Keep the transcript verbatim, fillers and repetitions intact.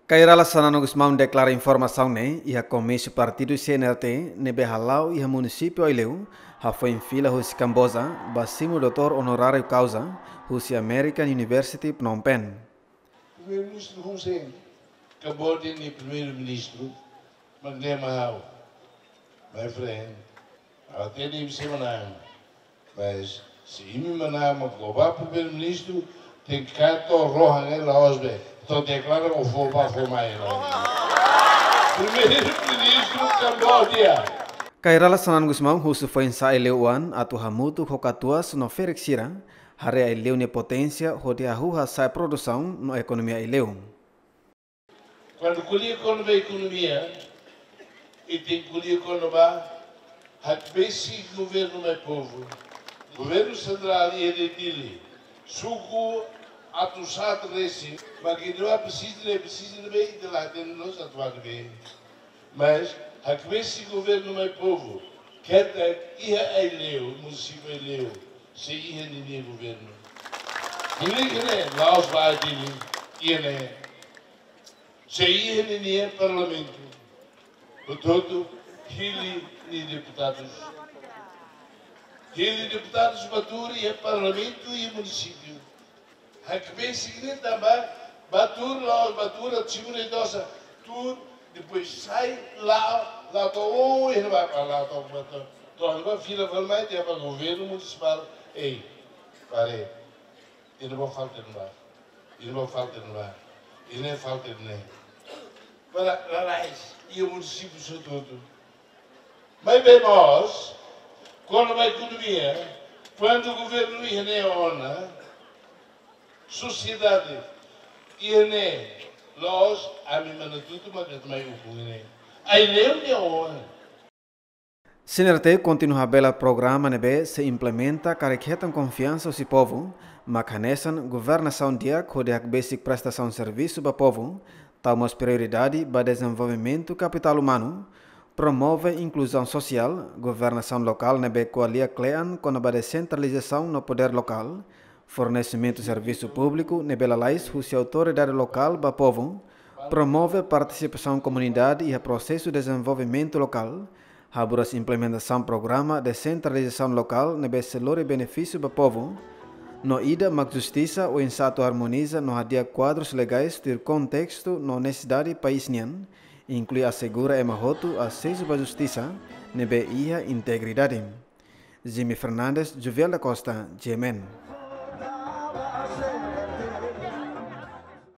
Kay Rala Xanana Gusmão deklara informasaun ne'e iha komísiu partidu C N R T ne'ebé hala'o iha munisípiu Aileu, hafoin fila husi Kamboja ba simu doutór onoráriu kauza husi American University Phnom Penh. Primeiru-Ministru Hun Sen, Kamboja nia Primeiru-Ministru, mak ne'e mak ha'u. My friend, ha'u hatene imi sei manán. Mas se imi manán mak ha'u ba Primeiru-Ministru, tenke kaer to'o rohan ne'e la'ós be. Entaun deklara ó fó bá fó mai. Primeiru-Ministru Kamboja. Kay Rala Xanana Gusmão husu foin-sa'e Aileu oan atu hamutuk ho katuas no ferik sira, haree Aileu nia poténsia hodi hahú hasa'e produsaun no ekonomia Aileu. Kuandu ko'alia kona-ba ekonomia, ita tenke ko'alia kona-ba hakbesik governu mai povu. Governu sentrál iha Dili, suku atus haat resin, mak ita presiza, presiza ne'ebé ita la hatene loos atu bá ne'ebé. Mas hakbesik governu mai povu, ketak iha Aileu, munisípiu Aileu, sei iha ninia governu. Dili ne'e la'ós ba Dili, iha ne'e. Sei iha ninia parlamentu. Portantu, hili nia deputadus. Hili deputadus bá tuur iha parlamentu iha munisípiu. Hakbesik ne'e tanba bá tuur la'ós bá tuur atu simu ne'e dosa. Tuur, depois sai, la'o, la'o to'o, oh, iha ne'ebá, la'o to'o, bá to'o. To'o iha ne'ebá fila fali mai, tiha ba governu munisipál. Ei, pare. Iha ne'ebá falta ne'ebá. Iha ne'ebá falta ne'ebá. Iha ne'e falta ne'e. Para lalais, iha munisípiu hotu-hotu. Maibé mós, kona-ba ekonomia, kuandu governu iha ne'e ona, sosiedade iha ne'e loos, ami manatutu mak atu mai ukun iha ne'e. Aileu nia ona. C N R T kontinua habelar programa ne'ebé sei implementa karik hetan konfiansa husi povu, mak hanesan governasaun di'ak hodi hakbesik prestasaun servisu ba povu, tau mós prioridade ba dezenvolvimentu kapitál umanu, promove inkluzaun sosiál, governasaun lokál ne'ebé ko'alia kle'an kona-ba desentralizasaun no podér lokál, fornesimentu servisu públiku ne'ebé lalais husi autoridade lokál ba povu, promove partisipasaun komunidade iha prosesu dezenvolvimentu lokál, haburas implementasaun programa desentralizasaun lokál ne'ebé sei lori benefísiu ba povu, no ida mak justisa oinsá atu armoniza no hadi'a kuadrus legais tuir kontestu no nesesidade país nian, inklui asegura ema hotu asesu ba justisa ne'ebé iha integridade. Jimmy Fernandes, Juviel da Costa, G M N.